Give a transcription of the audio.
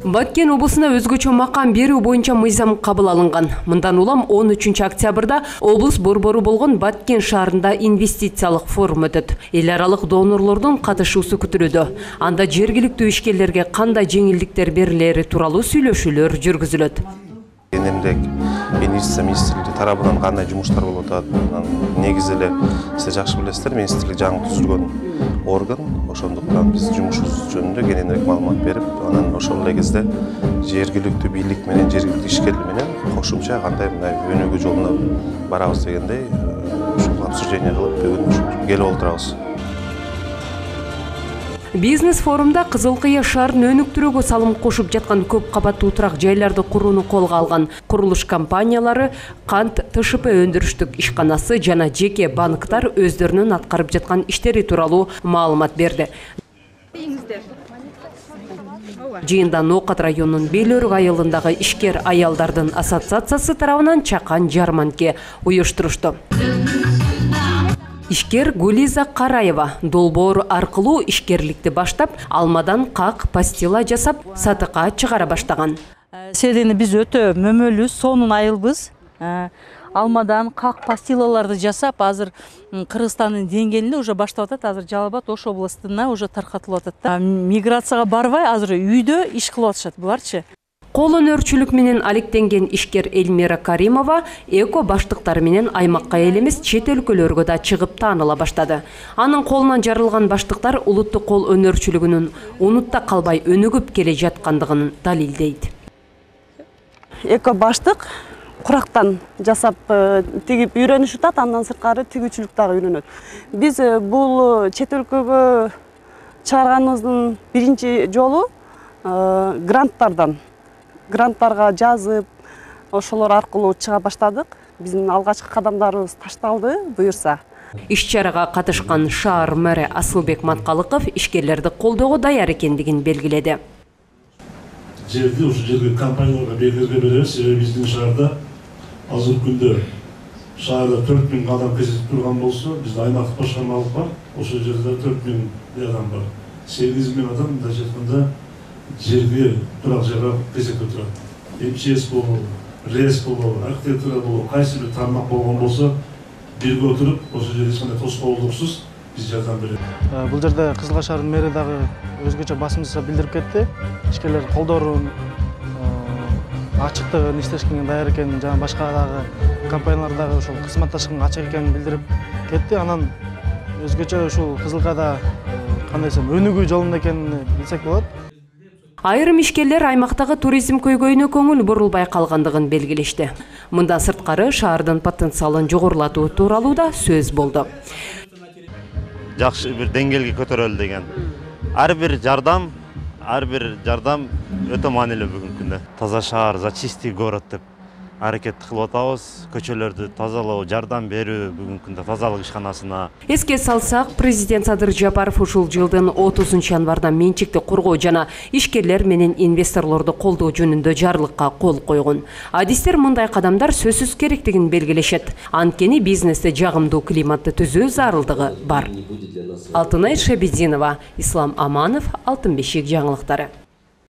Баткен облусуна өзгөчө макам берүү боюнча мыйзам кабыл алынган. Мындан улам 13 октябрда облус борбору болгон Баткен шаарында инвестициялык форум өтөт. Эл аралык донорлордун катышуусу күтүлүүдө. Анда жергиликтүү ишкерлерге кандай жеңилдиктер берилери тууралуу сүйлөшүүлөр жүргүзүлөт. Кененирээк инвестиция министрлиги тарабынан кандай жумуштар болуп атат? Негизи эле сиз жакшы билесиздер, министрлик жаңы түзүлгөн орган. Ошондуктан биз жумушубуз жөнүндө кененирээк маалымат берип, анан ошол эле кезде жергиликтүү бийлик менен, жергиликтүү ишкерлер менен кошумча кандай мындай өнүгүү жолуна барабыз дегендей ушул обсуждение кылып бүгүн келип отурабыз. Бизнес форумда Кызыл Кыя шаарын өнүктүрүүгө салым кошуп жаткан көп кабаттуу турак жайларды курууну колго алган курулуш компаниялары, кант ТШП өндүрүштүк ишканасы жана жеке банктар өздөрүнүн аткарып жаткан иштери тууралуу маалымат берди. Жыйында Ноокат районунун Белөрүк айылындагы ишкер аялдардын ассоциациясы тарабынан чакан жарманке уюштурушту. Ишкер Гулиза Караева долбоор аркылуу ишкерликти баштап, алмадан как пастила жасап, сатыкка чыгара баштаган. Себеби биз өтө мөмөлүү сонун айылбыз. Алмадан как пастилаларды жасап, азыр Кыргызстандын деңгээлинде уже баштап атат. Азыр Жалал Абад Ош областына уже таркатылып атат. Миграцияга барбай, азыр үйдө иш кылып атышат буларчы. Кол өнөрчүлүк менен алектенген ишкер Эльмира Каримова эко баштыктары менен аймакка эле эмес, чет өлкөлөргө да чыгып тааныла баштады. Анын колунан жарылган баштыктар улуттук кол өнөрчүлүгүнүн унутта калбай өнүгүп келе жаткандыгын далилдейт. Эко баштык курактан жасап тигип үйрөнүш атат, андан сырткары тигүүчүлүк дагы үйрөнөт. Биз бул чет өлкөгө чыгарганыбыздын биринчи жолу гранттарга жазып, ошолор аркылуу чыга баштадык. Биздин алгачкы кадамдарыбыз ташталды, буюрса. Иш-чарага катышкан шаар мэри Асылбек Маткалыков ишкерлерди колдоого даяр экендигин белгиледи. Жерди ушу жерге компанияларга белгилерге беребиз. Себеби биздин шаарда азыркы күндө шаарда 4000 адам кезектеп турган болсо, бизде аймактык башкармалык бар. Ошол жерде 4000 адам бар. 8000 адам мындайча айтканда жерге турак жайга кезекте турат. МЧС болобу, РЭС болобу, архитектура болобу, кайсы бир тармак болгон болсо, бирге отуруп, ошол жерде эч кандай тоскоолдуксуз биз жардам беребиз. Бул жерде Кызыл Кыя шаарынын мэри дагы өзгөчө басым жасап билдирип кетти. Ишкерлер колдорун ачыктыгын, иштешкенге даяр экенин, жана башка дагы компаниялар дагы ошол кызматташканга ачык экенин билдирип кетти. Анан өзгөчө ушул Кызыл Кыяда кандай десем, өнүгүү жолунда экенин билсек болот. Айрым ишкерлер аймактагы туризм көйгөйүнө көңүл бурулбай калгандыгын белгилешти. Мындан сырткары шаардын потенциалын жогорулатуу тууралуу да сөз болду. Жакшы бир деңгээлге көтөрөлү деген. Ар бир жардам өтө маанилүү бүгүнкү күндө. Таза шаар, за чистый город деп аракет кылып атабыз. Көчөлөрдү тазалоо, жардам берүү бүгүнкү күндө тазалык ишканасына. Эске салсак, президент Садыр Жапаров ушул жылдын 30-январда менчикти коргоо жана ишкерлер менен инвесторлорду колдоо жөнүндө жарлыкка кол койгон. Адистер мындай кадамдар сөзсүз керектигин белгилешет. Анткени бизнесте жагымдуу климатты түзүү зарылдыгы бар. Алтынай Шабидинова, Ислам Аманов, Алтын бешик жаңылыктары.